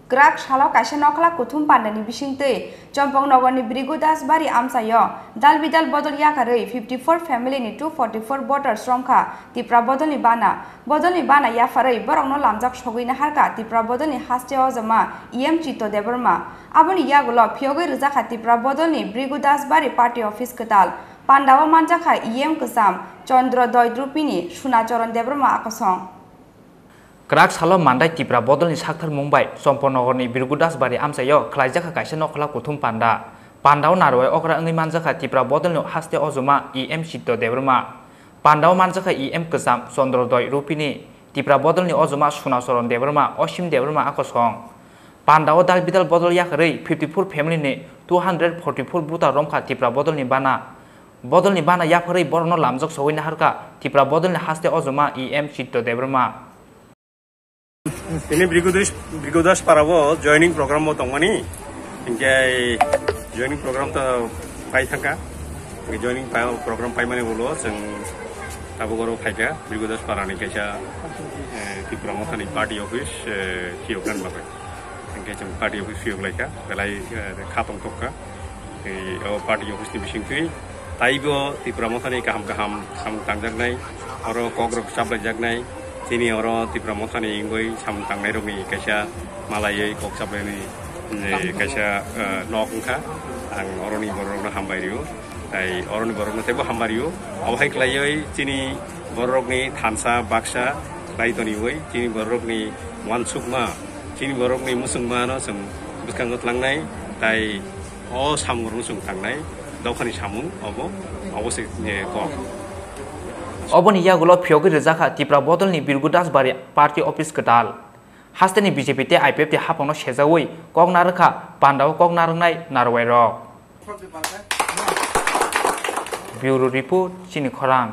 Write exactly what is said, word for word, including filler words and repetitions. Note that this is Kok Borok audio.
Kwrak salo kaisa nokla kuthum pandani bisingtwi Chompong Nogorni Brigu Das Bari amchaio dal bidal bodol yakarwi fifty four family ni two forty four voters romkha Tipra bodolni bana. Bodolni bana yapharwi borokno lamjak sogwi naharkha Tipra bodolni haste ojoma E M Chitto Debbarma. Aboni yagulo phiyogwi rwjakha Tipra bodolni Brigu Das Bari party office kwtal. Pandao manjakha E M kwcham Chandra Doy Drupini Suna Charan Debbarma akosong. Kwrak salo mandai Tipra bodolni saktharmung bai Chompon Nogorni Birgu Das Bari amchaio khlaijakha kaisa nokhola kuthum panda. Pandao narwai okra wngwi manjakha Tipra bodolni haste ojoma E M Chitto Debbarma. Pandao manjakha E M kwcham Chandra Doy Rupini, Tipra bodolni ojoma Suna Charan Debbarma, Osim Debbarma akosong. Pandao dal bidal bodol yakarwi fifty four family ni two hundred forty four voter romkha Tipra bodolni bana. Bodolni bana yapharwi borokno lamjak sogwi naharkha Tipra bodolni haste ojoma E M Chitto Debbarma. Tini Brigodas, Brigodas parao joining program bo tongmani. Hinkhe joining program to pai thangkha. Hinkhe joining pa-, program paimani ulo chwng tabuk oro phaikha Brigodas parani kaisa, eh, Tipra Mothani party office, eh, phiyoknani bagwi. Hinkhe chwng party office phiyok laikha, belai, eh, kha tongthok kha. Tei o party office ni bisingtwi taibo Tipra Mothani kaham kaham samung tangjaknai, oro kokrok chaplaijaknai, chini oro Tipra Mothani wngwi samung tangnairokni kaisa malaiwi kok chaplaini, eh, kaisa, eh, nok wngkha. Ang oroni bororokno hambai rio, tai oroni bororokno teibo hambai rio. Obo hai khlaiwi chini bororokni thansa baksa khlai toniwi chini bororokni uansukma, chini bororokni mwswngmano chwng bwskango tlangnai, tai o samungrokno chwng tangnai dophani samung obo, obo se, eh, kok. Oboni yagulo phiyogwi rwjakha Tipra bodolni Birgu Das Bari party office kwtal. Hasteni B J P tei I P F T haphangno sejawi kok narwkha, pandao kok narwknai narwai rok. Bureau Report, Chini Khorang.